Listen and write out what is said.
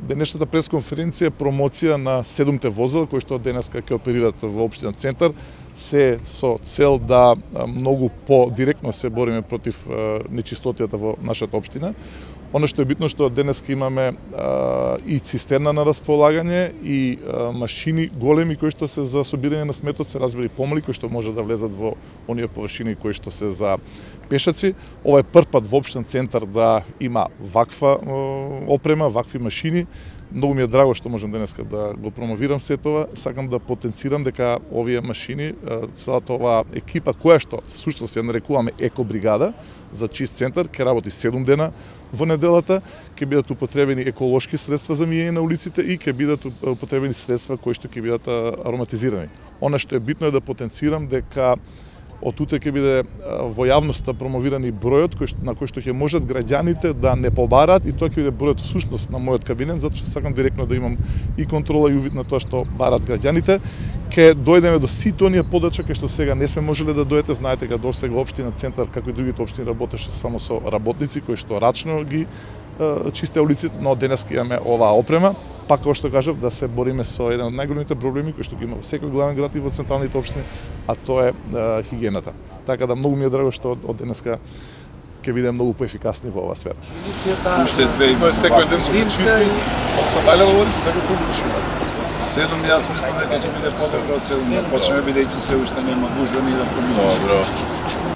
Денешната пресконференција е промоција на 7 возила кои што денеска ќе оперират во општина Центар, се со цел да многу по-директно се бориме против нечистотијата во нашата општина. Оно што е битно што денеска имаме и цистерна на располагање и машини големи кои што се за собирање на сметот, се разбира и помали кои што може да влезат во оние површини кои што се за пешаци. Ова е прв пат во општин Центар да има ваква опрема, вакви машини. Многу ми е драго што можам денеска да го промовирам сето тоа. Сакам да потенцирам дека овие машини, целата оваа екипа која што всушност ја нарекуваме екобригада за чист центар, ќе работи 7 дена во неделата, ќе бидат употребени еколошки средства за миење на улиците и ќе бидат употребени средства кои што ќе бидат ароматизирани. Она што е битно е да потенцирам дека од туте ќе биде во јавноста промовирани бројот на кој што ќе можат граѓаните да не побараат, и тоа ќе биде бројот всушност на мојот кабинет, затоа што сакам директно да имам и контрола и увид на тоа што бараат граѓаните. Ке дојдеме до сите оние подача кај што сега не сме можеле да дојдете. Знаете дека досега општина Центар, како и другите општини, работеше само со работници кои што рачно ги чисте улиците, но денес имаме оваа опрема. Пак, како што кажав, да се бориме со еден од најголемите проблеми кои што ги има во секој главен град и во централните општини, а тоа е хигиената. Така да многу ми е драго што од денеска ќе бидеме многу поефикасни во оваа сфера. Уште две и секој ден се чисти, од Сабајле говори се дека публично. 7, јас мислам дека ќе биде подобро од 7, почнеме бидејќи се уште нема гужва ни да проминува. Добро.